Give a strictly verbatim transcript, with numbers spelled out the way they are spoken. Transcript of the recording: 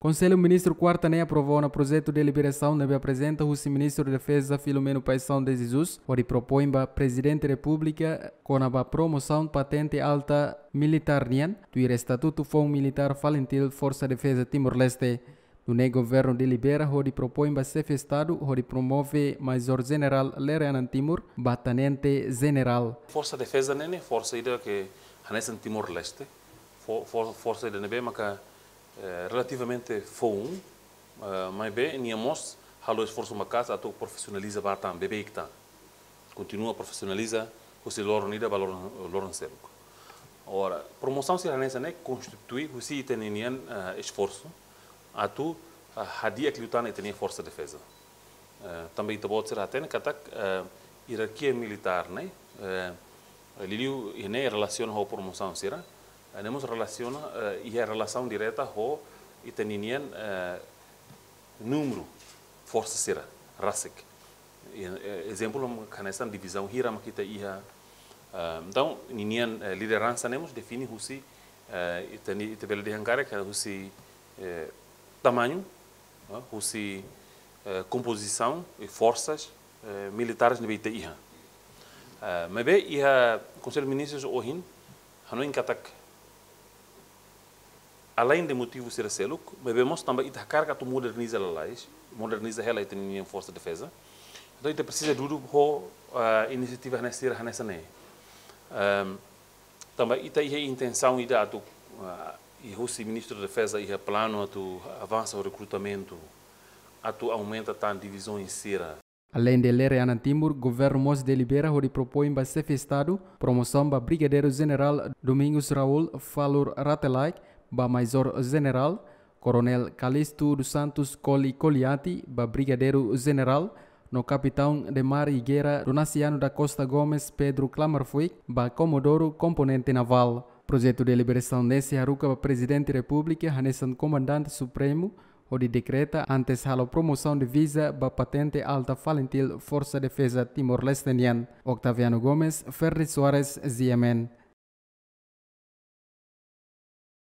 Konsellu Ministru kuarta ne'e aprova ona projetu deliberasaun ne'ebé aprezenta husi Ministru Defeza Filomeno Paixão de Jesus, hodi propoin ba Prezidente Repúblika kona-ba promosaun patente alta militár nian, tuir estatutu foun militár Falintil Forsa Defeza Timor-Leste. Nune'e governu delibera hodi propoin ba Xefe Estadu hodi promove Maizór Jenerál Lere Anan Timur ba Tenente Jenerál. Forsa Defeza ne'e, ne'e forsa ida ke hanesan Timor-Leste, fo-, fo-, forsa ida ne'ebé maka eh, relativamente foun, eh, maibé nia mós halo esforsu maka'as atu profisionaliza ba tan, beibeik tan. Kontinua profisionaliza husi loron ida ba loron, loron seluk. Ora, promosaun sira hanesan ne'e konstitui husi ita-nia nian, eh, esforsu atu, eh, hadi'a liután ita-nia Forsa Defeza. Eh, tanba ita-boot sira hatene katak, eh, ierarkia militár ne'e, eh, liuliu iha ne'e relasiona ho promosaun sira, eh, ne'e mós relasiona, eh, iha relasaun direta ho ita-nia nian, eh, númeru forsa sira rasik. I, eh, ezemplu, hanesan divizaun hira mak ita iha, eh, entaun, ninian, eh, lideransa ne'e mós define husi, eh, ita-nia, ita bele dehan karik husi, eh, tamañu, eh, husi, eh, kompozisaun i forsas, eh, militáres ne'ebé ita iha. Eh, maibé iha Konsellu Ministrus ohin, hanoin katak, além de motivu sira seluk, maibé mós tanba ita hakarak atu moderniza lalais, moderniza hela ita-nia Forsa Defeza. Entaun ita presiza dudu ho, eh, inisiativa hanesan sira hanesan ne'e. Ehm, tanba ita iha intensaun ida atu, ah, i husi Ministru Defeza iha planu atu avansa ho rekrutamentu, atu aumenta tan divizaun sira. Além de Lere Anan Timur, governu mós delibera hodi propoin ba Xefe Estadu promosaun ba Brigadeiru Jenerál Domingos Raul Falur Rate-Laek ba Maizór Jenerál, Koronél Calixto dos Santos Coli Coliati ba Brigadeiru Jenerál, no Kapitaun de Mar i Guerra Donaciano da Costa Gomes Pedro Klamerfuik ba Komodoru Komponente Navál. Projetu deliberasaun ne'e sei haruka ba Prezidente Repúblika hanesan Komandante Supremu, hodi dekreta antes halo promosaun de visa ba patente alta Falintil Forsa Defeza Timor-Leste nian. Octaviano Gomes, Ferdi Soares, G M N.